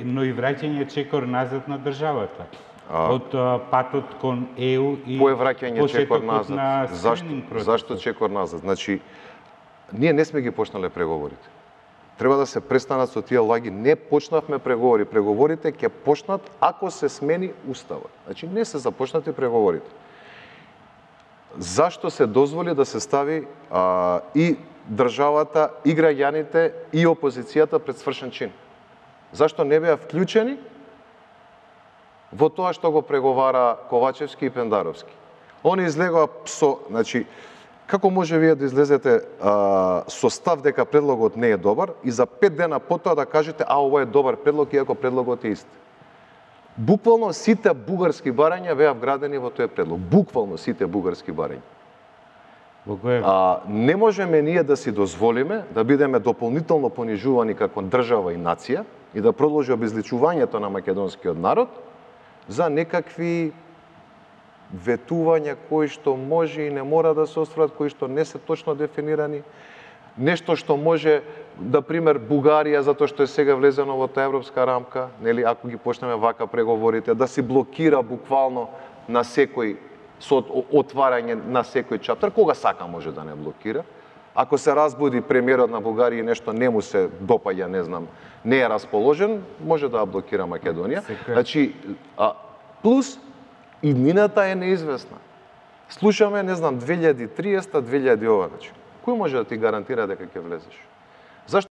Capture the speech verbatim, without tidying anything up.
но и враќање чекор назад на државата. А, од а, патот кон Е У и по враќање чекор назад. На зашто зашто чекор назад? Значи ние не сме ги почнале преговорите. Треба да се престанат со тие лаги. Не почнавме преговори. Преговорите ќе почнат ако се смени уставот. Значи не се започнати преговорите. Зашто се дозволи да се стави а, и државата, и граѓаните, и опозицијата пред свршен чин? Зашто не беа вклучени во тоа што го преговара Ковачевски и Пендаровски? Они излегоа со, значи, како може вие да излезете а, со став дека предлогот не е добар и за пет дена потоа да кажете а ова е добар предлог иако предлогот е ист? Буквално сите бугарски барања беа вградени во тој предлог. Буквално сите бугарски барања. А, не можеме ние да си дозволиме да бидеме дополнително понижувани како држава и нација и да продолжи обезличувањето на македонскиот народ за некакви ветувања кои што може и не мора да се остварат, кои што не се точно дефинирани. Нешто што може, да пример, Бугарија, затоа што е сега влезено во таа европска рамка, нели, ако ги почнеме вака преговорите, да си блокира буквално на секој со отварање на секој чаптер, кога сака може да не блокира. Ако се разбуди премиерот на Бугарија и нешто не му се допаѓа, не знам, не е расположен, може да блокира Македонија. Значи, а, плюс иднината е неизвестна. Слушаме, не знам, две илјади и триесета, две илјади ова, значи. Кој може да ти гарантира дека ќе влезеш?